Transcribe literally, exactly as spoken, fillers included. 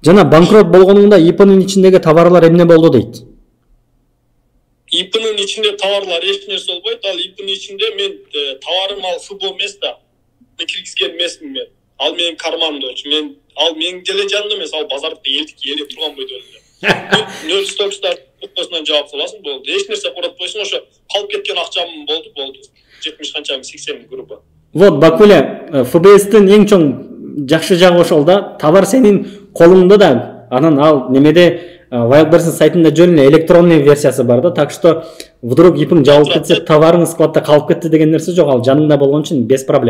Жана банкрот болгонуңда ИПнын ичиндеги товарлар эмне болду дейт? ИПнын ичинде товарлар эч нерсе болбойт. Ал ИПнын ичинде мен товарым ал ФБ эмес да. Мен киргизген эмесмин мен. Ал менин карманымда болчу. Мен ал менин деле жанымда эмес, ал базарда элдик эле турган бойдо эле. Нөл стокстар өкмөсүнөн жаап саласың, болду. Эч нерсе куратпайсың, ошо калып кеткен акчам болду, болду. жетимиш канча сексен группа. Вот Бакуле, ФБСтин эң чоң жакшы жагы ошол да, товар сенин колуңда да, анан ал немеде Wildberries сайтында жөн эле электронный версиясы бар да, так что вдруг ИПиң жабылып кетсе, товарың складта калып кетти деген нерсе жок, ал жаныңда болгон үчүн без проблем.